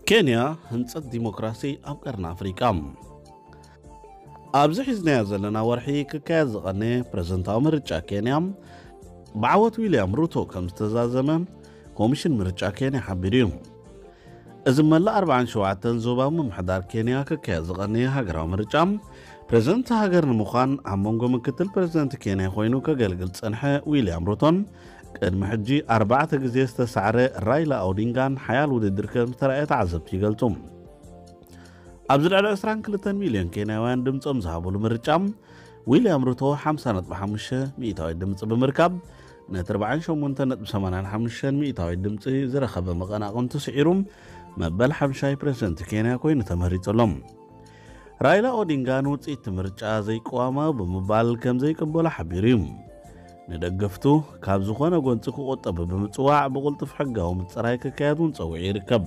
ኬንያ፣ ህንጸት ዲሞክራሲ ኣብ ቀርኒ ኣፍሪቃ። ኣብዚ ሒዝናዮ ዘለና ወርሒ ክካየድ ዝቐነየ ፕረዚደንታዊ ምርጫ ኬንያ፣ ብዓወት ዊልያም ሩቶ ከም ዝተዛዘመ ኮሚሽን ምርጫ ኬንያ ሓቢሩ እዩ። እዚ መላእ ኣርባዓን ሸውዓተን ዞባዊ ምምሕዳር ኬንያ ክካየድ ዝቐነየ ሃገራዊ ምርጫ፣ ፕረዚደንት ሃገር ንምዃን ኣብ መንጎ ምክትል ፕረዚደንት ኬንያ ኮይኑ ከገልግል ዝጸንሐ ዊልያም ሩቶን ቅድሚ ሕጂ ኣርባዕተ ግዜ ዝተሳዕረ ራይላ ኦዲንጋን ሓያል ውድድር ከም ዝተራእየ ተዓዘብቲ ይገልጹ። ኣብዚ ልዕሊ ዕስራን ክልተን ሚልዮን ኬንያውያን ድምጾም ዝሃብሉ ምርጫ፣ ዊልያም ሩቶ ሓምሳ ነጥቢ ሓሙሽተ ሚእታዊት ድምጺ ብምርካብ፣ ነቲ ኣርባዓን ሸሞንተን ነጥቢ ሰማንያን ሓሙሽተን ሚእታዊት ድምጺ ዝረኸበ መቐናቕንቱ ስዒሩ፣ መበል ሓምሻይ ፕረዚደንት ኬንያ ኮይኑ ተመሪጹ ኣሎ። ራይላ ኦዲንጋ ንውጽኢት ምርጫ ዘይቀዋማዊ ብምባል ከም ዘይቅበሎ ሓቢሩ እዩ። ንደገፍቱ ካብ ዝኾነ ጎንጺ ክቑጠቡ ብምጽዋዕ፣ ብቕልጡፍ ሕጋዊ ምጽራይ ክካየድ እውን ጸዊዑ ይርከብ።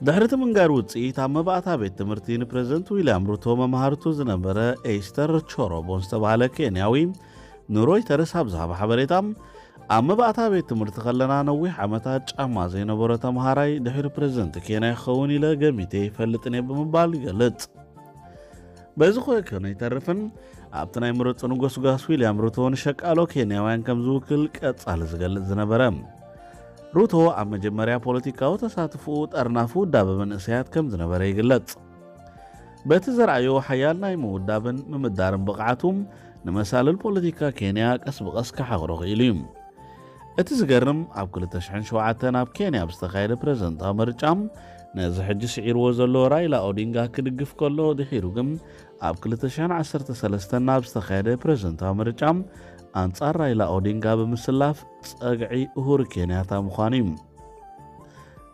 ድሕሪ እቲ ምንጋር ውጽኢት፣ ኣብ መባእታ ቤት ትምህርቲ ንፕረዚደንት ዊልያም ሩቶ መምሃርቱ ዝነበረ ኤስተር ቾሮቦ ዝተባህለ ኬንያዊ ንሮይተርስ ኣብ ዝሃቦ ሓበሬታ፣ ኣብ መባእታ ቤት ትምህርቲ ከለና ነዊሕ ዓመታት ጫማ ዘይነበሮ ተምሃራይ ድሕሪ ፕረዚደንት ኬንያ ክኸውን ኢለ ገሚተ ይፈልጥን እየ ብምባል ይገልጽ። በዚ ኮይከነ ኣይተርፍን፣ ኣብቲ ናይ ምረጹ ንጎስጓስ ዊልያም ሩቶ ንሸቃሎ ኬንያውያን ከም ዝውክል ቀጻሊ ዝገልጽ ዝነበረ። ሩቶ ኣብ መጀመርያ ፖለቲካዊ ተሳትፎኡ ጠርናፊ ውዳበ መንእሰያት ከም ዝነበረ ይግለጽ። በቲ ዘርኣዮ ሓያል ናይ ምውዳብን ምምዳርን ብቕዓቱ፣ ንመሳልል ፖለቲካ ኬንያ ቀስ ብቐስ ክሓኽሮ ክኢሉ እዩ። እቲ ዝገርም፣ ኣብ ክልተ ሽሕን ሸውዓተን ኣብ ኬንያ ኣብ ዝተኻየደ ፕረዚደንታዊ ምርጫ፣ ነዚ ሕጂ ስዒርዎ ዘሎ ራይላ ኦዲንጋ ክድግፍ ከሎ፣ ድሒሩ ግን ኣብ ክልተ ሽሕን ዓሰርተ ሰለስተን ኣብ ዝተኻየደ ፕረዚደንታዊ ምርጫ ኣንጻር ራይላ ኦዲንጋ ብምስላፍ ጸግዒ ኡሁሩ ኬንያታ ምዃኑ እዩ።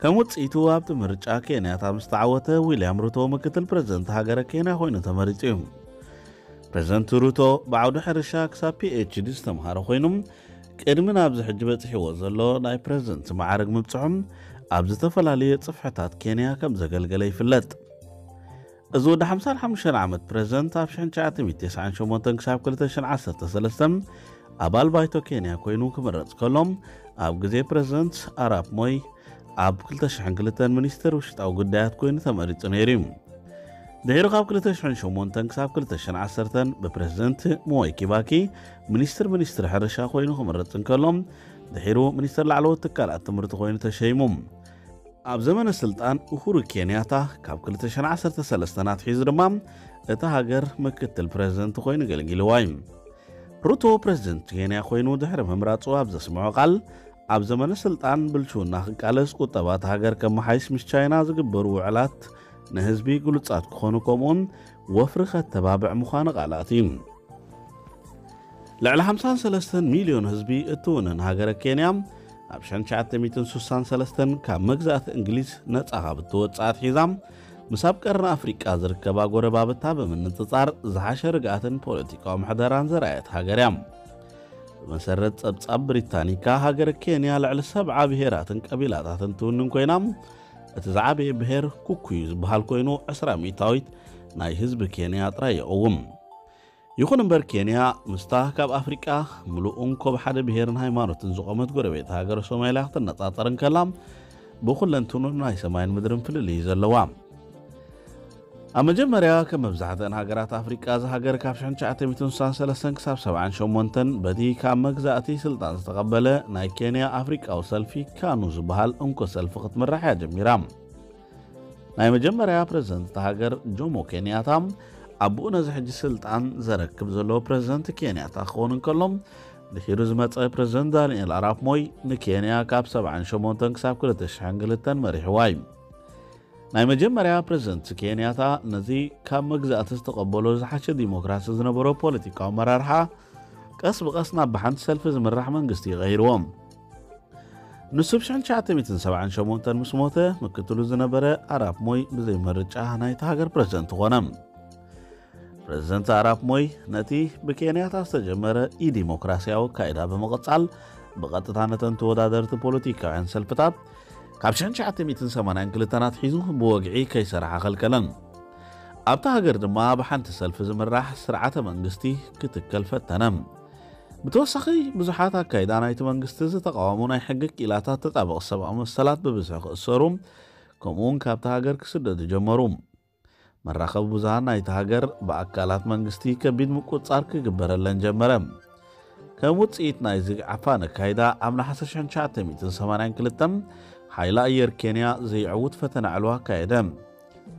ከም ውጽኢቱ፣ ኣብቲ ምርጫ ኬንያታ ምስ ተዓወተ፣ ዊልያም ሩቶ ምክትል ፕረዚደንት ሃገረ ኬንያ ኮይኑ ተመሪጹ እዩ። ፕረዚደንት ሩቶ ብዓውዲ ሕርሻ ክሳብ ፒ ኤች ዲ ዝተምሃረ ኮይኑ፣ ቅድሚ ናብዚ ሕጂ በጺሕዎ ዘሎ ናይ ፕረዚደንት ማዕረግ ምብጽሑ፣ ኣብ ዝተፈላለየ ጽፍሕታት ኬንያ ከም ዘገልገለ ይፍለጥ። እዚ ወዲ ሓምሳን ሓሙሽተን ዓመት ፕረዚደንት፣ ኣብ ሽሕን ትሽዓተ ሚእትን ተስዓን ሸሞንተን ክሳብ ክልተ ሽሕን ዓሰርተ ሰለስተን ኣባል ባይቶ ኬንያ ኮይኑ ክምረጽ ከሎ፣ ኣብ ግዜ ፕረዚደንት ኣራፕ ሞይ ኣብ ክልተ ሽሕን ክልተን ሚኒስትር ውሽጣዊ ጉዳያት ኮይኑ ተመሪጹ ነይሩ እዩ። ድሒሩ ካብ ክልተ ሽሕን ሸሞንተን ክሳብ ክልተ ሽሕን ዓሰርተን ብፕረዚደንት ሞይ ኪባኪ ሚኒስትር ሚኒስትሪ ሕርሻ ኮይኑ ክምረጽ እንከሎ፣ ድሒሩ ሚኒስትር ላዕለዎት ትካላት ትምህርቲ ኮይኑ ተሸይሙ። ኣብ ዘመነ ስልጣን ኡሁሩ ኬንያታ ካብ ክልተ ሽሕን ዓሰርተ ሰለስተን ኣትሒዙ ድማ እታ ሃገር ምክትል ፕረዚደንት ኮይኑ ኣገልጊልዋ እዩ። ሩቶ ፕረዚደንት ኬንያ ኮይኑ ድሕሪ ምምራጹ ኣብ ዘስምዖ ቃል፣ ኣብ ዘመነ ስልጣን ብልሽውና ክቃለስ፣ ቁጠባ እታ ሃገር ከመሓይሽ፣ ምስ ቻይና ዝግበሩ ውዕላት ንህዝቢ ግሉጻት ክኾኑ፣ ከምኡውን ወፍሪ ከተባብዕ ምዃኑ ቃላት እዩ። ልዕሊ ሓምሳን ሰለስተን ሚልዮን ህዝቢ እትውንን ሃገረ ኬንያ፣ ኣብ ሽሕን ትሽዓተ ሚእትን ስሳን ሰለስተን ካብ መግዛእቲ እንግሊዝ ነጻ ካብ እትወጽእ ኣትሒዛ፣ ምስ ኣብ ቀርኒ ኣፍሪቃ ዝርከባ ጎረባብታ ብምንጽጻር ዝሓሸ ርግኣትን ፖለቲካዊ ምሕደራን ዘርኣየት ሃገር እያ። ብመሰረት ጸብጻብ ብሪታኒካ፣ ሃገረ ኬንያ ልዕሊ ሰብዓ ብሄራትን ቀቢላታትን ትውንን ኮይና፣ እቲ ዝዓበየ ብሄር ኩኩዩ ዝበሃል ኮይኑ፣ ዕስራ ሚእታዊት ናይ ህዝቢ ኬንያ ጥራይ ይቕውም። ይኹን እምበር፣ ኬንያ ምስታ ካብ ኣፍሪቃ ምሉእ እንኮ ብሓደ ብሄርን ሃይማኖትን ዝቖመት ጎረቤት ሃገር ሶማልያ ክትነጻጸር እንከላ፣ ብኹለንትኑ ናይ ሰማይን ምድርን ፍልልይ እዩ ዘለዋ። ኣብ መጀመርያ፣ ከም መብዛሕትአን ሃገራት ኣፍሪቃ፣ እዛ ሃገር ካብ ሽሕን ትሽዓተ ሚእትን ስሳን ሰለስተን ክሳብ ሰብዓን ሸሞንተን በቲ ካብ መግዛእቲ ስልጣን ዝተቐበለ ናይ ኬንያ ኣፍሪቃዊ ሰልፊ፣ ካኑ ዝበሃል እንኮ ሰልፊ ክትምራሕ እያ ጀሚራ። ናይ መጀመርያ ፕረዚደንት እታ ሃገር ጆሞ ኬንያታ፣ ኣቦኡ ነዚ ሕጂ ስልጣን ዘረክብ ዘሎ ፕረዚደንት ኬንያታ ክኸውን እንከሎ፣ ድሒሩ ዝመጸ ፕረዚደንት ዳንኤል ኣራፕ ሞይ ንኬንያ ካብ ሰብዓን ሸሞንተን ክሳብ ክልተ ሽሕን ክልተን መሪሕዋ እዩ። ናይ መጀመርያ ፕረዚደንት ኬንያታ ነዚ ካብ መግዛእቲ ዝተቐበሎ ዝሓሸ ዲሞክራሲ ዝነበሮ ፖለቲካዊ ኣመራርሓ፣ ቀስ ብቐስ ናብ ብሓንቲ ሰልፊ ዝምራሕ መንግስቲ ይቐይርዎ። ንሱ ብ ሽሕን ትሽዓተ ሚእትን ሰብዓን ሸሞንተን ምስ ሞተ፣ ምክትሉ ዝነበረ ኣራፕ ሞይ ብዘይ ምርጫ ናይታ ሃገር ፕረዚደንት ኾነ። ፕረዚደንት ኣራፕ ሞይ ነቲ ብኬንያታ ዝተጀመረ ኢዲሞክራስያዊ ኣካይዳ ብምቕጻል፣ ብቐጥታ ነተን ተወዳደርቲ ፖለቲካውያን ሰልፍታት ካብ ሽሕን ትሽዓተ ሚእትን ሰማንያን ክልተን ኣትሒዙ ብወግዒ ከይሰርሓ ከልከለን። ኣብታ ሃገር ድማ ብሓንቲ ሰልፊ ዝምራሕ ስርዓተ መንግስቲ ክትከል ፈተነ። ብተወሳኺ፣ ብዙሓት ኣካይዳ ናይቲ መንግስቲ ዝተቓወሙ ናይ ሕጊ ክኢላታት ተጣበቕቲ ሰብኣዊ መሰላት ብብዝሒ ክእሰሩ፣ ከምኡውን ካብቲ ሃገር ክስደዱ ጀመሩ። መራኸቢ ብዙሃን ናይቲ ሃገር ብኣካላት መንግስቲ ከቢድ ምቁጽጻር ክግበረለን ጀመረ። ከም ውጽኢት ናይዚ ዓፋን ኣካይዳ፣ ኣብ ነሓሰ ሽሕን ትሽዓተ ሚእትን ሰማንያን ክልተን ሓይሊ ኣየር ኬንያ ዘይዕውት ፈተነ ዕልዋ ኣካየደ።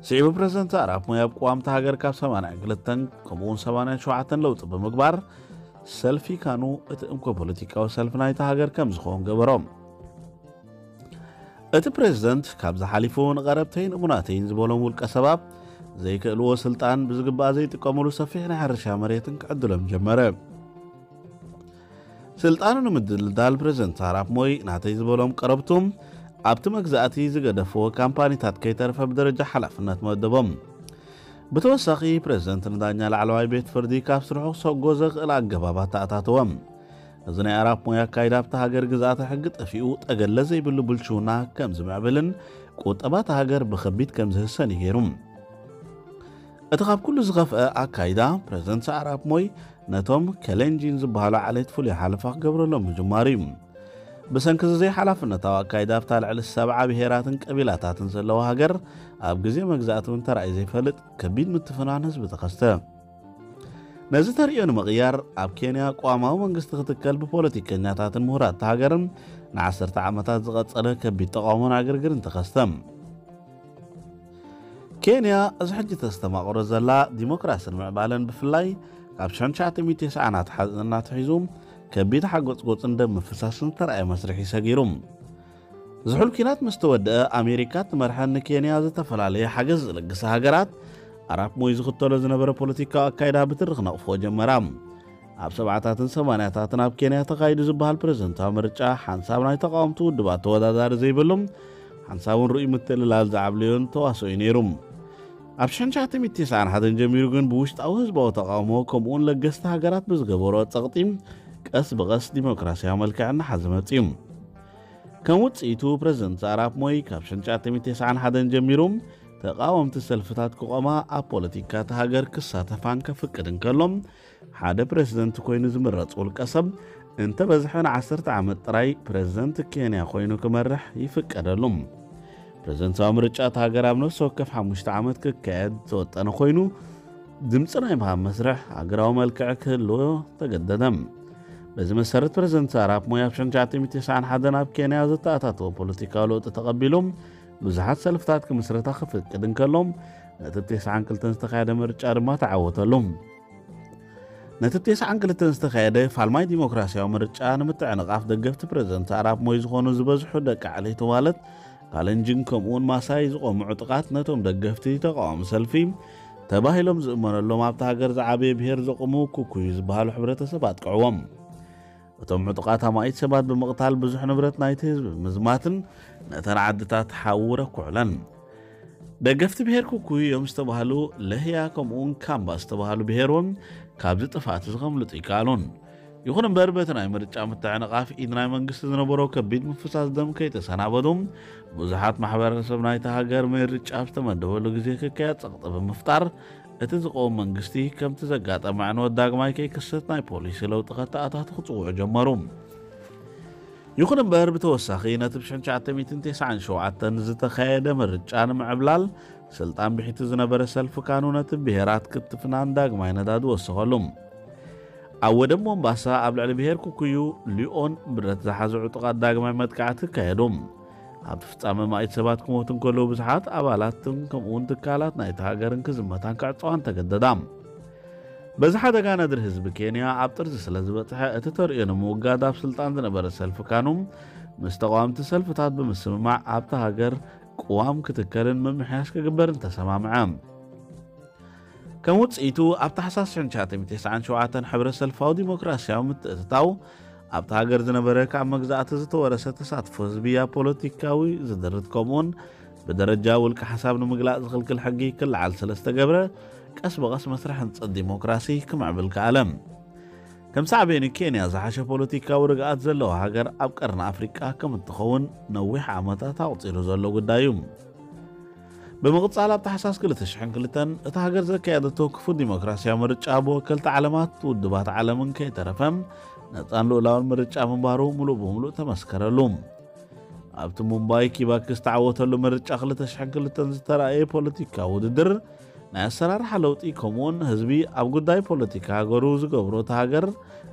ስዒቡ ፕረዚደንት ኣራፕ ሞይ ኣብ ቅዋምቲ ሃገር ካብ ሰማንያን ክልተን ከምኡውን ሰማንያን ሸውዓተን ለውጢ ብምግባር ሰልፊ ካኑ እቲ እንኮ ፖለቲካዊ ሰልፊ ናይቲ ሃገር ከም ዝኸውን ገበሮ። እቲ ፕረዚደንት ካብ ዝሓሊፉ ንቐረብተይን እሙናተይን ዝበሎም ውልቀ ሰባት ዘይክእልዎ ስልጣን ብዝግባእ ዘይጥቀምሉ ሰፊሕ ናይ ሕርሻ መሬትን ክዕድሎም ጀመረ። ስልጣኑ ንምድልዳል ፕረዚደንት ኣራፕ ሞይ ናተይ ዝበሎም ቀረብቱ ኣብቲ መግዛእቲ ዝገደፍዎ ካምፓኒታት ከይተረፈ ብደረጃ ሓላፍነት መደቦም። ብተወሳኺ ፕረዚደንት ንዳኛ ላዕለዋይ ቤት ፍርዲ ካብ ስርሑ ክሰጎ ዘኽእል ኣገባባት ተኣታተወም። እዚ ናይ ኣራፕ ሞይ ኣካይዳ ኣብቲ ሃገር ግዝኣተ ሕጊ ጠፊኡ ጠገለ ዘይብሉ ብልሽውና ከም ዝምዕብልን ቁጠባት ሃገር ብኸቢድ ከም ዝህሰን እዩ ገይሩ። እቲ ካብ ኩሉ ዝኸፍአ ኣካይዳ ፕረዚደንት ኣራፕ ሞይ ነቶም ከሌንጂን ዝበሃሉ ዓሌት ፍሉይ ሓለፋ ክገብረሎም ምጅማሩ እዩ። ብሰንኪ እዚ ዘይሓላፍነታዊ ኣካይዳ ኣብታ ልዕሊ ሰብዓ ብሄራትን ቀቢላታትን ዘለዋ ሃገር ኣብ ግዜ መግዛእቲ እውን ተራእዩ ዘይፈልጥ ከቢድ ምትፍናን ህዝቢ ተኸስተ። ነዚ ተርእዮ ንምቕያር ኣብ ኬንያ ቅዋማዊ መንግስቲ ክትከል ብፖለቲከኛታትን ምሁራት ሃገርን ንዓሰርተ ዓመታት ዝቐጸለ ከቢድ ተቃውሞን ዕግርግርን ተኸስተ። ኬንያ እዚ ሕጂ ተስተማቕሮ ዘላ ዲሞክራስን ምዕባለን ብፍላይ ካብ ሽሕን ትሽዓተ ሚእትን ተስዓን ኣትሓ- እናትሒዙ ከቢድ ሓጎጽጎጽን ደም ምፍሳስን ዝተረኣየ መስርሕ እዩ ሰጊሩ። ዝሑል ኲናት ምስ ተወደአ ኣሜሪካ ትመርሐን ንኬንያ ዝተፈላለየ ሓገዝ ዝለግሳ ሃገራት ኣራፕ ሞይ ዝኽተሎ ዝነበረ ፖለቲካዊ ኣካይዳ ብትሪ ክነቕፍኦ ጀመራ። ኣብ ሰብዓታትን ሰማንያታትን ኣብ ኬንያ ተኻይዱ ዝበሃል ፕረዚደንታዊ ምርጫ ሓንሳብ ናይ ተቃወምቲ ውድባት ተወዳዳሪ ዘይብሉ ሓንሳብ እውን ርኡይ ምትልላል ዝዓብለዮን ተዋስኦ እዩ ነይሩ። ኣብ ሽሕን ትሽዓተ ሚእትን ተስዓን ሓደን ጀሚሩ ግን ብውሽጣዊ ህዝባዊ ተቃውሞ ከምኡውን ለገስቲ ሃገራት ብዝገበሮ ጸቕጢ ቀስ ብቐስ ዲሞክራሲያዊ መልክዕ እናሓዘ መጺኡ። ከም ውጽኢቱ ፕረዚደንት ኣራፕ ሞይ ካብ ሽሕን ትሽዓተ ሚእትን ተስዓን ሓደን ጀሚሩ ተቃወምቲ ሰልፍታት ክቆማ ኣብ ፖለቲካ እታ ሃገር ክሳተፋን ከፍቅድ እንከሎ ሓደ ፕረዚደንት ኮይኑ ዝምረጽ ውልቀ ሰብ እንተበዝሐ ንዓሰርተ ዓመት ጥራይ ፕረዚደንት ኬንያ ኮይኑ ክመርሕ ይፍቀደሉ። ፕረዚደንታዊ ምርጫ እታ ሃገር ኣብ ነፍሲ ወከፍ ሓሙሽተ ዓመት ክካየድ ዝተወጠነ ኮይኑ ድምፂ ናይ ምሃብ መስርሕ ሃገራዊ መልክዕ ክህልዎ ተገደደ። በዚ መሰረት ፕረዚደንት ኣራፕ ሞይ ኣብ ሽሕን ትሽዓተ ሚእትን ተስዓን ሓደን ኣብ ኬንያ ዝተኣታተወ ፖለቲካዊ ለውጢ ተቐቢሉ ብዙሓት ሰልፍታት ክምስረታ ክፍቅድ እንከሎ ነቲ ተስዓን ክልተን ዝተኻየደ ምርጫ ድማ ተዓወተሉ። ነቲ ተስዓን ክልተን ዝተኻየደ ፋልማይ ዲሞክራሲያዊ ምርጫ ንምትዕንቓፍ ደገፍቲ ፕረዚደንት ኣራፕ ሞይ ዝኾኑ ዝበዝሑ ደቂ ዓሌቱ ማለት ካለንጂን ከምኡውን ማሳይ ዝቖሙ ዕጡቓት ነቶም ደገፍቲ ተቃዋሚ ሰልፊ ተባሂሎም ዝእመነሎም ኣብቲ ሃገር ዝዓበየ ብሄር ዘቑሙ ኩኩዩ ዝበሃሉ ሕብረተሰብ ኣጥቅዕዎም። እቶም ዕጡቓት ኣማኢት ሰባት ብምቕታል ብዙሕ ንብረት ናይቲ ህዝቢ ብምዝማትን ነተን ዓድታት ሓዊ ረኩዕለን። ደገፍቲ ብሄር ኩኩዩ እዮም ዝተባህሉ ለህያ ከምኡውን ካምባ ዝተባህሉ ብሄር እውን ካብዚ ጥፍኣት እዚ ከምልጡ ይከኣሉን። ይኹን እምበር በቲ ናይ ምርጫ ምትዕንቓፍ ኢድ ናይ መንግስቲ ዝነበሮ ከቢድ ምፍሳስ ደም ከይተሰናበዱ ብዙሓት ማሕበረሰብ ናይቲ ሃገር ምርጫ ኣብ ዝተመደበሉ ግዜ ክካየድ ጸቕጢ ብምፍጣር እቲ ዝቐውም መንግስቲ ከምቲ ዘጋጠመ ዕንወት ዳግማይ ከይክሰት ናይ ፖሊሲ ለውጢ ከተኣታቱ ክጽውዑ ጀመሩ። ይኹን እምበር ብተወሳኺ ነቲ ብ ሽሕን ትሽዓተ ሚእትን ተስዓን ሸውዓተን ዝተኻየደ ምርጫ ንምዕብላል ስልጣን ብሒቱ ዝነበረ ሰልፊ ካኑ ነቲ ብሄራት ክትፍናን ዳግማይ ነዳዲ ወሰኸሉ። ኣብ ወደብ ሞምባሳ ኣብ ልዕሊ ብሄር ኩኩዩ ሊኦን ብረት ዝሓዙ ዕጡቓት ዳግማይ መጥቃዕቲ ኣካየዱ። ኣብቲ ፍጻመ ማኢት ሰባት ክሞቱ እንከለዉ ብዙሓት ኣባላትን ከምኡውን ትካላት ናይቲ ሃገርን ክዝመታን ክዕጸዋን ተገደዳ። በዚ ሓደጋ ነድሪ ህዝቢ ኬንያ ኣብ ጥርዚ ስለ ዝበጽሐ እቲ ተርእዮ ንምውጋድ ኣብ ስልጣን ዝነበረ ሰልፊ ካኑ ምስ ተቃወምቲ ሰልፍታት ብምስምማዕ ኣብቲ ሃገር ቅዋም ክትከልን ምምሕያሽ ክግበርን ተሰማምዐ። ከም ውጽኢቱ ኣብ ታሕሳስ ሽሕን ትሽዓተ ሚእትን ተስዓን ሸውዓተን ሕብረ ሰልፋዊ ዲሞክራሲያዊ ምትእትታው ኣብቲ ሃገር ዝነበረ ካብ መግዛእቲ ዝተወረሰ ተሳትፎ ህዝቢ ኣብ ፖለቲካዊ ዝድርት ከምኡውን ብደረጃ ውልቀ ሓሳብ ንምግላጽ ዝኽልክል ሕጊ ክለዓል ስለ ዝተገብረ ቀስ ብቐስ መስርሕ ህንጸት ዲሞክራሲ ክምዕብል ከኣለ። ከም ሳዕቤኑ ኬንያ ዝሓሸ ፖለቲካዊ ርግኣት ዘለዋ ሃገር ኣብ ቀርኒ ኣፍሪቃ ከም እትኸውን ነዊሕ ዓመታት ኣቑጺሩ ዘሎ ጉዳይ እዩ። ብምቕጻል ኣብ ታሕሳስ ክልተ ሽሕን ክልተን እታ ሃገር ዘካየደቶ ክፉት ዲሞክራሲያዊ ምርጫ ብወከልቲ ዓለማት ውድባት ዓለምን ከይተረፈ ነጻን ልኡላውን ምርጫ ምንባሩ ምሉእ ብምሉእ ተመስከረሉ። ኣብቲ ሙምባይ ኪባኪ ዝተዓወተሉ ምርጫ ክልተ ሽሕን ክልተን ዝተራእየ ፖለቲካዊ ውድድር፣ ናይ ኣሰራርሓ ለውጢ፣ ከምኡውን ህዝቢ ኣብ ጉዳይ ፖለቲካ ሃገሩ ዝገብሮ፣ እቲ ሃገር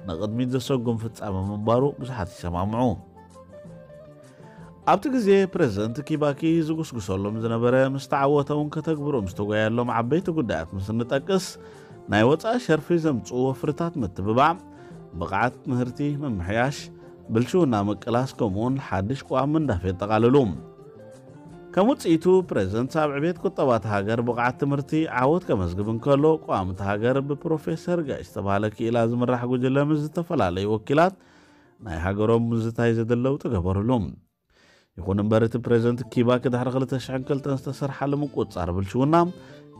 ንቕድሚት ዘሰጉም ፍጻመ ምንባሩ ብዙሓት ይሰማምዑ። ኣብቲ ግዜ ፕሬዝደንት ኪባኪ ዝጉስጉሰሎም ዝነበረ፣ ምስ ተዓወተ እውን ከተግብሮም ዝተጓየሎም ዓበይቲ ጉዳያት ምስ እንጠቅስ፣ ናይ ወጻኢ ሸርፊ ዘምጽኡ ወፍርታት ምትብባዕ፣ ብቕዓት ምህርቲ ምምሕያሽ፣ ብልሽውና ምቅላስ፣ ከምኡውን ሓድሽ ቅዋም ምንዳፍ የጠቓልሉ። ከም ውጽኢቱ፣ ፕሬዝደንት ኣብ ዕቤት ቁጠባ እታ ሃገር ብቕዓት ትምህርቲ ዓወት ከመዝግብ እንከሎ፣ ቅዋም እታ ሃገር ብፕሮፌሰር ጋይ ዝተባህለ ክኢላ ዝምራሕ ጉጅለ ምስ ዝተፈላለዩ ወኪላት ናይ ሃገሮም ምዝታይ ዘድል ለውጢ ገበርሉ። ይኹን እምበር፣ እቲ ፕሬዝደንት ኪባኪ ድሕሪ ክልተ ሽሕን ክልተን ዝተሰርሓ ለምቁጻር ብልሽውና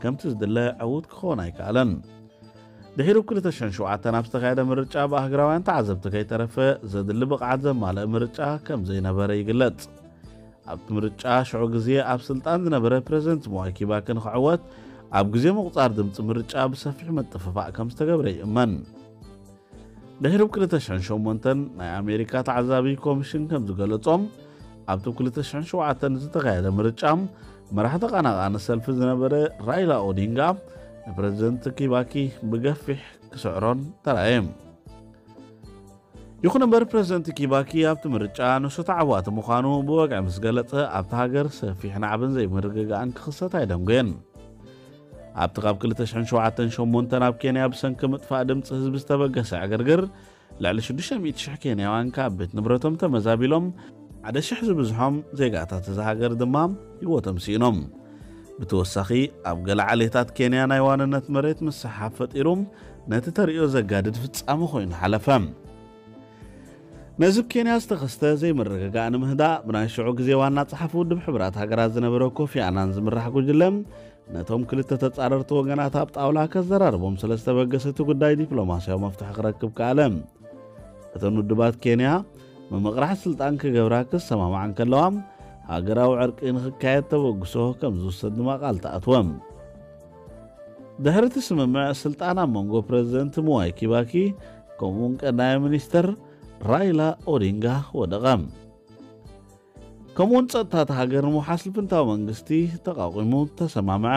ከምቲ ዝድለ ዕዉት ክኸውን ኣይከኣለን። ድሒሩ ክልተ ሽሕን ሸውዓተን ኣብ ዝተኻየደ ምርጫ ብኣህግራውያን ተዓዘብቲ ከይተረፈ ዘድሊ ብቕዓት ዘማልእ ምርጫ ከም ዘይነበረ ይግለጽ። ኣብቲ ምርጫ ሽዑ ግዜ ኣብ ስልጣን ዝነበረ ፕሬዝደንት ምዋይ ኪባኪ ንኽዕወት ኣብ ግዜ ምቑጻር ድምፂ ምርጫ ብሰፊሕ ምጥፍፋእ ከም ዝተገብረ ይእመን። ድሕሪ ክልተ ሽሕን ሸሞንተን ናይ ኣሜሪካ ተዓዛቢ ኮሚሽን ከም ዝገለጾም ኣብቲ ክልተ ሽሕን ሸውዓተን ዝተኻየደ ምርጫ መራሒ ተቐናቓኒ ሰልፊ ዝነበረ ራይላ ኦዲንጋ ንፕሬዝደንት ኪባኪ ብገፊሕ ክስዕሮን ተራእየ። ይኹን እምበር ፕሬዝደንት ኪባኪ ኣብቲ ምርጫ ንሱ ተዓዋቲ ምዃኑ ብወግዒ ምስ ገለጸ ኣብቲ ሃገር ሰፊሕ ናዕብን ዘይምርግጋእን ክኽሰት ኣይደንጎየን። ኣብቲ ካብ ክልተ ሽሕን ሸውዓተን ሸሞንተን ኣብ ኬንያ ብሰንኪ ምጥፋእ ድምፂ ህዝቢ ዝተበገሰ ዕግርግር ልዕሊ ሽዱሽተ ሚእቲ ሽሕ ኬንያውያን ካብ ቤት ንብረቶም ተመዛቢሎም ሓደ ሽሕ ዝብዝሖም ዜጋታት እዛ ሃገር ድማ ህይወቶም ስኢኖም። ብተወሳኺ ኣብ ገለ ዓሌታት ኬንያ ናይ ዋንነት መሬት ምስሓብ ፈጢሩ ነቲ ተርእዮ ዘጋድድ ፍጻመ ኮይኑ ሓለፈ። ነዚ ኣብ ኬንያ ዝተኸስተ ዘይምርግጋእ ንምህዳእ ብናይ ሽዑ ግዜ ዋና ጸሓፊ ውድብ ሕቡራት ሃገራት ዝነበረ ኮፊ ኣናን ዝምራሕ ጉጅለ ነቶም ክልተ ተጻረርቲ ወገናት ኣብ ጣውላ ከዘራርቦም ስለ ዝተበገሰ እቲ ጉዳይ ዲፕሎማስያዊ መፍትሒ ክረክብ ከኣለ። እተን ውድባት ኬንያ ምምቕራሕ ስልጣን ክገብራ ክሰማማዓ እንከለዋ ሃገራዊ ዕርቂ ንክካየድ ተበግሶ ከም ዝውሰድ ድማ ቃል ተኣትወ። ድሕሪ እቲ ስምምዕ ስልጣን ኣብ መንጎ ፕሬዝደንት ምዋይ ኪባኪ ከምኡውን ቀዳማይ ሚኒስተር ራይላ ኦዲንጋ ወደቐ። ከምኡውን ጸጥታ እታ ሃገር ንምውሓስ ልፍንታዊ መንግስቲ ተቓቒሙ ተሰማምዐ።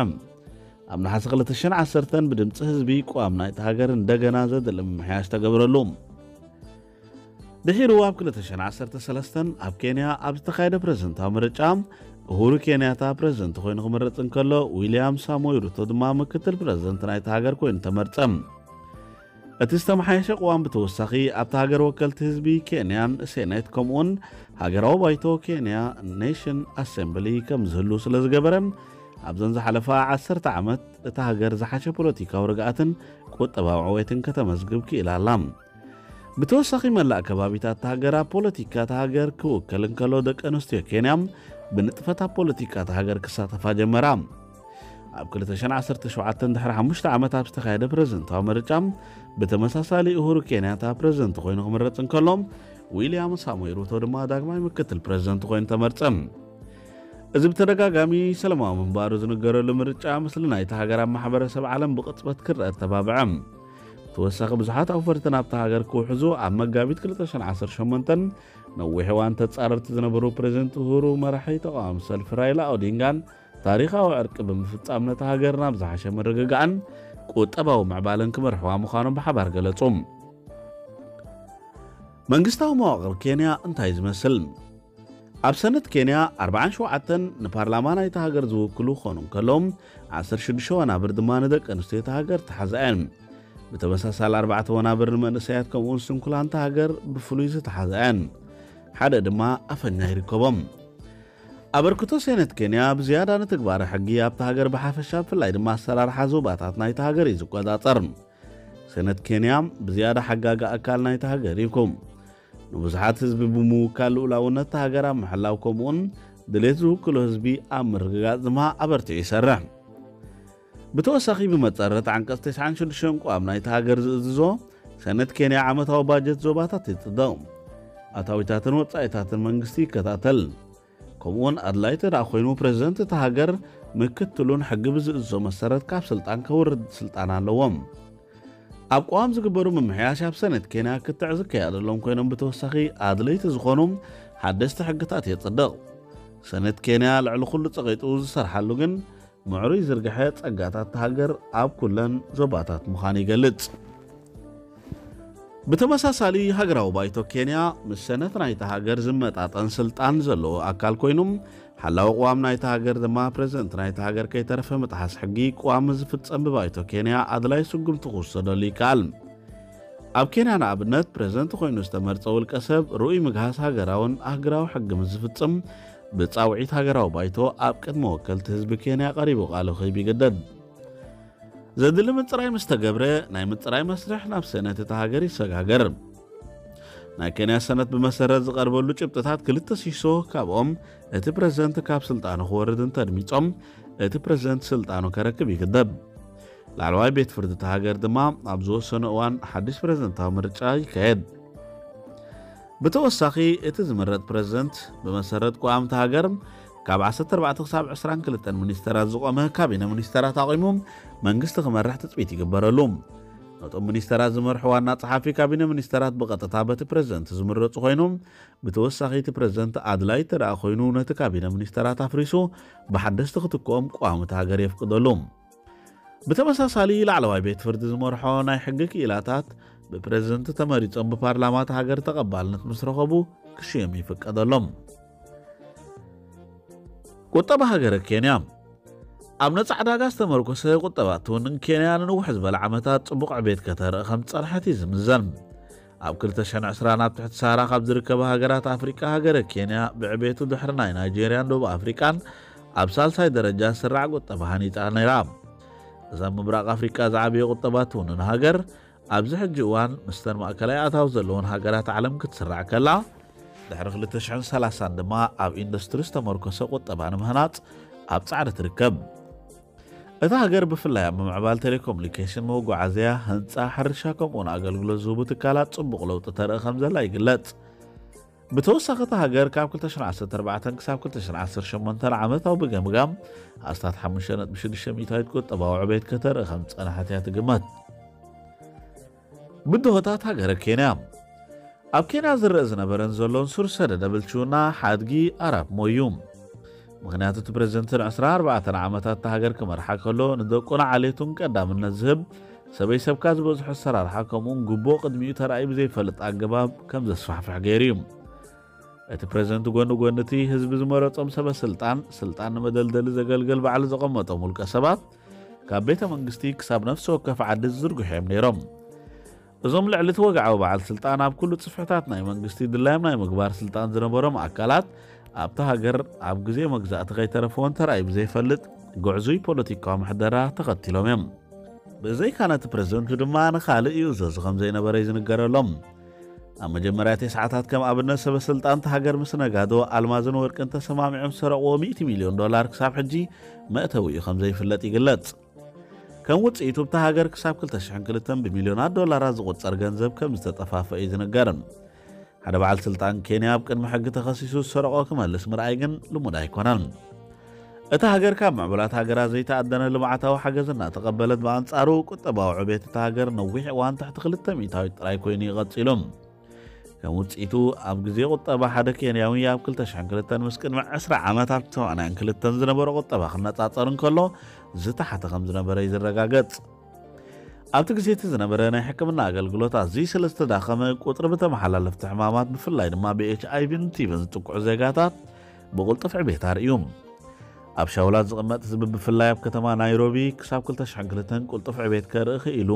ኣብ ነሓሰ ክልተ ሽሕን ዓሰርተን ብድምፂ ህዝቢ ቅዋም ናይቲ ሃገር እንደገና ዘድሊ ምምሕያሽ ተገብረሉ። ድሒሩ ኣብ ክልተ ሽሕን ዓሰርተ ሰለስተን ኣብ ኬንያ ኣብ ዝተኻየደ ፕሬዝደንታዊ ምርጫ ኡሁሩ ኬንያታ ፕሬዝደንት ኮይኑ ክምረጽ እንከሎ፣ ዊልያም ሳሞይ ሩቶ ድማ ምክትል ፕሬዝደንት ናይቲ ሃገር ኮይኑ ተመርጸ። እቲ ዝተመሓየሸ ቅዋም ብተወሳኺ ኣብቲ ሃገር ወከልቲ ህዝቢ ኬንያን ሴኔት ከምኡውን ሃገራዊ ባይቶ ኬንያ ኔሽን ኣሴምብሊ ከም ዝህሉ ስለ ዝገበረ ኣብዘን ዝሓለፋ ዓሰርተ ዓመት እታ ሃገር ዝሓሸ ፖለቲካዊ ርግኣትን ቁጠባዊ ዕቤትን ከተመዝግብ ክኢላ ኣላ። ብተወሳኺ መላእ ከባቢታት እታ ሃገር ኣብ ፖለቲካ እታ ሃገር ክውከል እንከሎ ደቂ ኣንስትዮ ኬንያ ብንጥፈት ኣብ ፖለቲካ እታ ሃገር ክሳተፋ ጀመራ። ኣብ ክልተ ሽሕን ዓሰርተ ሸውዓተን ድሕሪ ሓሙሽተ ዓመት ኣብ ዝተኻየደ ፕሬዝደንታዊ ምርጫ ብተመሳሳሊ ኡሁሩ ኬንያታ ፕሬዝደንት ኮይኑ ክምረጽ እንከሎ ዊልያም ሳሞይ ሩቶ ድማ ዳግማይ ምክትል ፕሬዝደንት ኮይኑ ተመርጸ። እዚ ብተደጋጋሚ ሰላማዊ ምንባሩ ዝንገረሉ ምርጫ ምስሊ ናይቲ ሃገር ኣብ ማሕበረሰብ ዓለም ብቕጽበት ክረአ ተባብዐ። ብተወሳኺ ብዙሓት ኣውፈርቲ ናብታ ሃገር ክውሕዙ ኣብ መጋቢት ክልተ ሽሕን ዓሰርተ ሸሞንተን ነዊሕ እዋን ተጻረርቲ ዝነበሩ ፕሬዝደንት ኡሁሩ መራሒ ተቓዋሚ ሰልፊ ራይላ ኦዲንጋን ታሪኻዊ ዕርቂ ብምፍጻም ነታ ሃገር ናብ ዝሓሸ ምርግጋእን ቁጠባዊ ምዕባለን ክመርሕዋ ምዃኖም ብሓባር ገለጹ። መንግስታዊ መዋቕር ኬንያ እንታይ ዝመስል? ኣብ ሰነት ኬንያ ኣርባዓን ሸውዓተን ንፓርላማ ናይታ ሃገር ዝውክሉ ክኾኑ እንከሎም ዓሰርተ ሽዱሽተ ወናብር ድማ ንደቂ ኣንስትዮ እታ ሃገር ተሓዛ እየን። ብተመሳሳሊ ኣርባዕተ ወናብር ንመንእሰያት ከምኡውን ስንኩላን እታ ሃገር ብፍሉይ ዝተሓዛ እየን። ሓደ ድማ ኣፈኛ ይርከቦም። ኣበርክቶ ሴኔት ኬንያ ብዝያዳ ንትግባረ ሕጊ ኣብታ ሃገር ብሓፈሻ ብፍላይ ድማ ኣሰራርሓ ዞባታት ናይታ ሃገር እዩ ዝቆጻጸር። ሴኔት ኬንያ ብዝያዳ ሓጋጊ ኣካል ናይታ ሃገር እዩ። ንብዙሓት ህዝቢ ብምውካል ልኡላውነት እታ ሃገር ኣብ ምሕላው ከምኡውን ድሌት ዝውክሎ ህዝቢ ኣብ ምርግጋጽ ድማ ኣበርቲዑ ይሰርሕ። ብተወሳኺ ብመጸረት ዓንቀጽ ተስዓን ሽዱሽተን ቅዋም ናይታ ሃገር ዝእዝዞ ሴኔት ኬንያ ዓመታዊ ባጀት ዞባታት ይጽድቕ። ኣታዊታትን ወጻኢታትን መንግስቲ ይከታተል። ከምኡውን ኣድላይ ተደኣ ኮይኑ ፕሬዝደንት እታ ሃገር ምክትሉን ሕጊ ብዝእዝዞ መሰረት ካብ ስልጣን ከውርድ ስልጣን ኣለዎም። ኣብ ቅዋም ዝግበሩ ምምሕያሽ ኣብ ሰኔት ኬንያ ክትዕ ዝከያደሎም ኮይኖም ብተወሳኺ ኣድለይቲ ዝኾኑ ሓደስቲ ሕግታት የጽድቕ። ሰነት ኬንያ ልዕሊ ኩሉ ጸቒጡ ዝሰርሓሉ ግን ምዕሩይ ዝርግሐ ጸጋታት ሃገር ኣብ ኩለን ዞባታት ምዃኑ ይገልጽ። ብተመሳሳሊ ሃገራዊ ባይቶ ኬንያ ምስ ሰነት ናይታ ሃገር ዝመጣጠን ስልጣን ዘለዎ ኣካል ኮይኑ፣ ሓላዊ ቅዋም ናይታ ሃገር ድማ ፕረዚደንት ናይታ ሃገር ከይተረፈ ምጥሓስ ሕጊ ቅዋም ዝፍጸም ብባይቶ ኬንያ ኣድላይ ስጉምቲ ክውሰደሉ ይከኣል። ኣብ ኬንያ ንኣብነት ፕረዚደንት ኮይኑ ዝተመርጸ ውልቀ ሰብ ርኡይ ምግሃስ ሃገራውን ኣህግራዊ ሕጊ ምስ ዝፍጽም ብጻውዒት ሃገራዊ ባይቶ ኣብ ቅድሚ ወከልቲ ህዝቢ ኬንያ ቀሪቡ ቃሉ ክህብ ይግደድ። ዘድሊ ምጽራይ ምስ ተገብረ ናይ ምጽራይ መስርሕ ናብ ሰነት እታ ሃገር ይሰጋገር። ናይ ኬንያ ሰነት ብመሰረት ዝቐርበሉ ጭብጥታት ክልተ ሲሶ ካብኦም እቲ ፕረዚደንት ካብ ስልጣኑ ክወርድ እንተድሚጾም እቲ ፕረዚደንት ስልጣኑ ከረክብ ይግደብ። ላዕለዋይ ቤት ፍርዲ እታ ሃገር ድማ ኣብ ዝወሰነ እዋን ሓድሽ ፕረዚደንታዊ ምርጫ ይካየድ። ብተወሳኺ እቲ ዝምረጥ ፕረዚደንት ብመሰረት ቅዋም እታ ሃገር ካብ ዓሰርተ ኣርባዕተ ክሳብ ዕስራን ክልተን ሚኒስተራት ዝቖመ ካቢነ ሚኒስተራት ኣቑሙ መንግስቲ ክመርሕ ትጽቢት ይግበረሉ። ነቶም ሚኒስተራት ዝመርሑ ዋና ጸሓፊ ካቢነ ሚኒስተራት ብቐጥታ በቲ ፕረዚደንት ዝምረጹ ኮይኖም፣ ብተወሳኺ እቲ ፕረዚደንት ኣድላይ እንተ ደኣ ኮይኑ ነቲ ካቢነ ሚኒስተራት ኣፍሪሱ ብሓደስቲ ክትክኦም ቅዋም እታ ሃገር የፍቅደሉ። ብተመሳሳሊ ላዕለዋይ ቤት ፍርዲ ዝመርሖ ናይ ሕጊ ክኢላታት ብፕረዚደንት ተመሪጾም ብፓርላማ እታ ሃገር ተቐባልነት ምስ ረኸቡ ክሽየም ይፍቀደሎም። ቁጠባ ሃገረ ኬንያ ኣብ ነጻ ዕዳጋ ዝተመርኮሰ ቁጠባ ትውንን ኬንያ ንንውሕ ዝበለ ዓመታት ጽቡቕ ዕቤት ከተርኢ ከም ዝጸንሐት እዩ ዝምዘን። ኣብ ክልተ ሽሕን ዕስራን ኣብ ትሕቲ ሳህራ ካብ ዝርከባ ሃገራት ኣፍሪቃ ሃገረ ኬንያ ብዕቤቱ ድሕሪ ናይ ናይጄርያን ደቡብ ኣፍሪቃን ኣብ ሳልሳይ ደረጃ ዝስራዕ ቁጠባ ሃኒጻ ነይራ። እዛ ምብራቕ ኣፍሪቃ ዝዓበየ ቁጠባ ትውንን ሃገር ኣብዚ ሕጂ እዋን ምስተን ማእከላይ ኣታዊ ዘለዎን ሃገራት ዓለም ክትስራዕ ከላ፣ ድሕሪ ክልተ ሽሕን ሰላሳን ድማ ኣብ ኢንዱስትሪ ዝተመርኮሰ ቁጠባ ንምህናጽ ኣብ ጻዕሪ ትርከብ። እታ ሃገር ብፍላይ ኣብ ምምዕባል ቴሌኮሙኒኬሽን፣ መጓዓዝያ፣ ህንጻ፣ ሕርሻ ከምኡውን ኣገልግሎት ዝህቡ ትካላት ጽቡቕ ለውጢ ተርኢ ከም ዘላ ይግለጽ። ብተወሳኺ እታ ሃገር ካብ ክልተ ሽሕን ዓሰርተ ኣርባዕተን ክሳብ ክልተ ሽሕን ዓሰርተ ሸሞንተን ዓመታዊ ብገምጋም ኣስታት ሓሙሽተ ነጥቢ ሽዱሽተ ሚእታዊት ቁጠባዊ ዕቤት ከተርኢ ከም ዝጸንሐት እያ ትግመት። ብድሆታት ሃገረ ኬንያ ኣብ ኬንያ ዝረአ ዝነበረን ዘሎን ሱር ሰደደ ብልሽውና ሓድጊ ኣራፕ ሞይ እዩ። ምኽንያቱ እቲ ፕረዚደንት ንዕስራን ኣርባዕተን ዓመታት እታ ሃገር ክመርሓ ከሎ ንደቁን ዓሌቱን ቀዳምነት ዝህብ ሰበይ ሰብካ ዝበዝሖ ኣሰራርሓ ከምኡውን ጉቦ ቅድሚኡ ተራእዩ ብዘይፈልጥ ኣገባብ ከም ዘስፋሕፍሕ ገይሩ እዩ። እቲ ፕረዚደንት ጎኒ ጎኒ እቲ ህዝቢ ዝመረጾም ሰበ ስልጣን ስልጣን ንመደልደሊ ዘገልግል ባዕሉ ዘቐመጦም ውልቀ ሰባት ካብ ቤተ መንግስቲ ክሳብ ነፍሲ ወከፍ ዓዲ ዝዝርግሑ እዮም ነይሮም። እዞም ልዕሊ እቲ ወግዓዊ በዓል ስልጣን ኣብ ኩሉ ጽፍሕታት ናይ መንግስቲ ድላዮም ናይ ምግባር ስልጣን ዝነበሮም ኣካላት ኣብታ ሃገር ኣብ ግዜ መግዛእቲ ከይተረፈ እውን ተራእዩ ብዘይፈልጥ ግዕዙይ ፖለቲካዊ ምሕደራ ተኸቲሎም እዮም። ብዘይካ ነቲ ፕረዚደንቱ ድማ ንኻልእ ይእዘዙ ከም ዘይነበረ እዩ ዝንገረሎም። ኣብ መጀመርያ እቲ ሰዓታት ከም ኣብነት ሰበ ስልጣን እታ ሃገር ምስ ነጋዶ ኣልማዝን ወርቅን ተሰማሚዖም ዝሰረቕዎ ሚእቲ ሚልዮን ዶላር ክሳብ ሕጂ መእተዊኡ ከም ዘይፍለጥ ይግለጽ። ከም ውጽኢቱ እታ ሃገር ክሳብ ክልተ ሽሕን ክልተን ብሚልዮናት ዶላራት ዝቑጸር ገንዘብ ከም ዝተጠፋፈ እዩ ዝንገር። ሓደ በዓል ስልጣን ኬንያ ኣብ ቅድሚ ሕጊ ተኸሲሱ ዝሰረቖ ክመልስ ምርኣይ ግን ልሙድ ኣይኮነን። እታ ሃገር ካብ ምዕቡላት ሃገራት ዘይተኣደነ ልምዓታዊ ሓገዝ እናተቐበለት፣ ብኣንጻሩ ቁጠባዊ ዕቤት እታ ሃገር ነዊሕ እዋን ትሕቲ ክልተ ሚእታዊት ጥራይ ኮይኑ እዩ ቀጺሉ። ከም ውጽኢቱ ኣብ ግዜ ቁጠባ ሓደ ኬንያዊ ኣብ ክልተ ሽሕን ክልተን ምስ ቅድሚ ዕስራ ዓመት ኣብ ሰማንያን ክልተን ዝነበረ ቁጠባ ክነጻጸር እንከሎ ዝተሓተ ከም ዝነበረ እዩ ዝረጋገጽ። ኣብቲ ግዜ እቲ ዝነበረ ናይ ሕክምና ኣገልግሎት ኣዝዩ ስለ ዝተዳኸመ ቁጽሪ ብተመሓላለፍቲ ሕማማት ብፍላይ ድማ ብኤች ኣይቪን ቲቪን ዝጥቅዑ ዜጋታት ብቕልጡፍ ዕቤት ኣርእዩ። ኣብ ሻውላት ዝቕመጥ ህዝቢ ብፍላይ ኣብ ከተማ ናይሮቢ ክሳብ ክልተ ሽሕን ክልተን ቅልጡፍ ዕቤት ከርኢ ክኢሉ።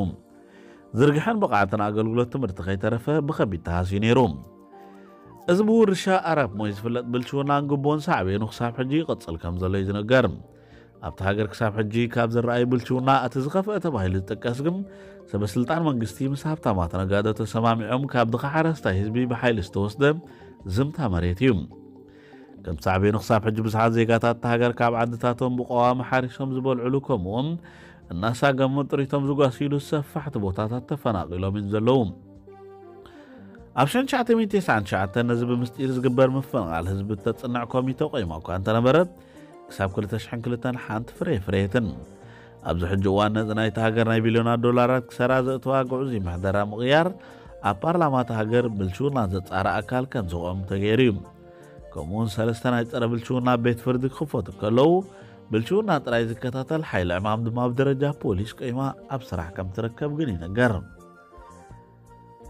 ዝርግሐን ብቕዓትን ኣገልግሎት ትምህርቲ ከይተረፈ ብኸቢድ ተሃስዩ ነይሩ። እዚ ብውርሻ ኣራፕ ሞይ ዝፍለጥ ብልሽውናን ግቦን ሳዕቤኑ ክሳብ ሕጂ ይቕጽል ከም ዘሎ እዩ ዝንገር። ኣብቲ ሃገር ክሳብ ሕጂ ካብ ዝረኣዩ ብልሽውና እቲ ዝኸፍአ ተባሂሉ ዝጥቀስ ግን ሰበ ስልጣን መንግስቲ ምስ ሃብታማት ነጋዶ ተሰማሚዖም ካብ ድኻ ሓረስታይ ህዝቢ ብሓይሊ ዝተወስደ ዝምታ መሬት እዩ። ከም ሳዕቤኑ ክሳብ ሕጂ ብዙሓት ዜጋታት እታ ሃገር ካብ ዓድታቶም ብቀዋሚ ሓሪሶም ዝበልዕሉ ከምኡውን እናሳገሙ ጥሪቶም ዝጓስይሉ ሰፋሕቲ ቦታታት ተፈናቒሎም እዮም ዘለዉ። ኣብ ሽሕን ትሽዓተ ሚእትን ተስዓን ትሽዓተን ነዚ ብምስጢር ዝግበር ምፍንቓል ህዝቢ እተጽንዕ ኮሚተ ቆይማ እኳ እንተነበረት፣ ክሳብ ክልተ ሽሕን ክልተን ሓንቲ ፍረ የፍረየትን። ኣብዚ ሕጂ እዋን ነዚ ናይታ ሃገር ናይ ቢልዮናት ዶላራት ክሰራ ዘእተዋ ግዑዙይ ምሕደራ ምቕያር ኣብ ፓርላማ እታ ሃገር ብልሽውና ዘጻሪ ኣካል ከም ዝቖም ተገይሩ እዩ። ከምኡውን ሰለስተ ናይ ጸረ ብልሽውና ቤት ፍርዲ ክኽፈቱ ከለዉ፣ ብልሽውና ጥራይ ዝከታተል ሓይሊ ዕማም ድማ ኣብ ደረጃ ፖሊስ ቆይማ ኣብ ስራሕ ከም ትርከብ ግን ይንገር።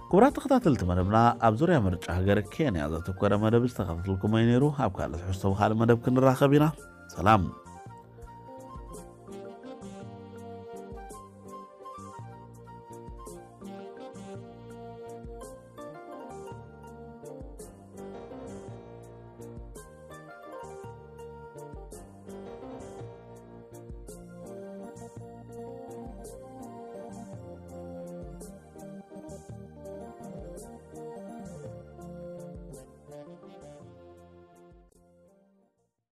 ክቡራት ተኸታተልቲ መደብና፣ ኣብ ዙርያ ምርጫ ሃገር ኬንያ ዘተኮረ መደብ ዝተኸታተልኩሞ እዩ ነይሩ። ኣብ ካልእ ትሕዝቶ ብኻልእ መደብ ክንራኸብ ኢና። ሰላም።